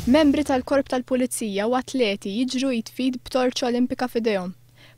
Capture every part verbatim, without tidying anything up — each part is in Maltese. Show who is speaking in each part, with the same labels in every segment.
Speaker 1: Membri tal-Korp tal-Pulizija u atleti jiġru id f'id b'torċa olimpika f'idejhom.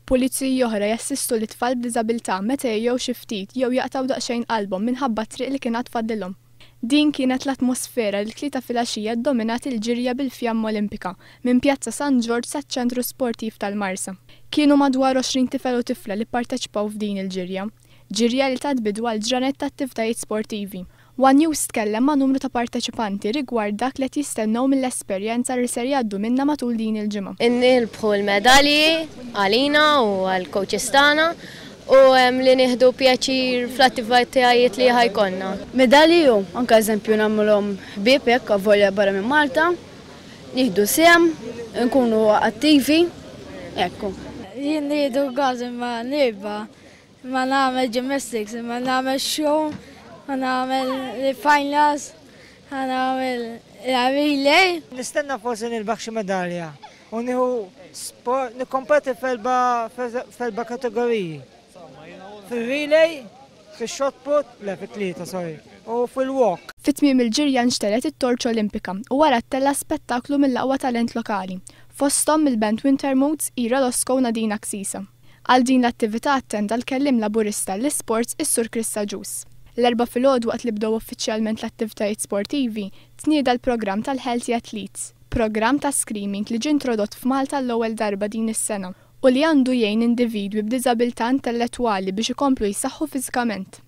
Speaker 1: Puliziji oħra jassistu lit-tfal b'diżabilità meta jgħejjew xi ftit jew jaqtgħu daqsxejn qalbhom minħabba t-triq li kien għad fadlilhom. Din kienet l-atmosfera li t-Tlieta filgħaxija ddominat il-ġirja bil-fjamma olimpika minn Pjazza San Ġorġ saċ-Ċentru Sportiv tal-Marsa. Kienu madwar għoxrin tifel u tifla li pparteċipaw f'din il-ġirja. Ġirja li tat bidu għal ġranet ta' attivitajiet sportivi. One News tkellem ma' numru ta' parteċipanti rigward dak li qed jistennew mill-esperjenza li ser jgħaddu minnha matul din il-ġimgħa.
Speaker 2: Nirbħu l-medalji għalina u għall-coaches tagħna u li nieħdu pjaċir fl-attivitajiet li ħa jkollna.
Speaker 3: Medalji u anke eżempju nagħmluhom ħbieb hekk avolja barra minn Malta, nieħdu sehem, nkunu attivi, ekku.
Speaker 4: Jien nieħdu gost imma nirbaħ, imma nagħmel gymnastics, imma nagħmel show, nagħmel finals, nagħmel relay.
Speaker 5: Nistenna forsi nirbaħ xi medalja u nieħu sport, nikkompeti f'erba' kategoriji. Fil-relay, fil-shot put, le fit-tlieta, sorry, u fil-walk.
Speaker 1: Fit-tmiem il-ġirja nxtegħlet it-torċa olimpika u wara ttella' spettaklu mill-aqwa talent lokali, fosthom mill-band Winter Moods, Ira Losco u Nadine Axisa. Għal din l-attività attenda l-kelliem Laburista l-Sports is-Sur Chris Agius. L-Erbgħa filgħodu, waqt li bdew uffiċjalment l-attivitajiet sportivi, tnieda l-programm tal-Healthy Athletes, programm ta' screening li ġie introdott f'Malta l-ewwel darba din is-sena u li għandu jgħin individwi b'diżabilità intellettwali biex ikomplu jsaħħu fiżikament.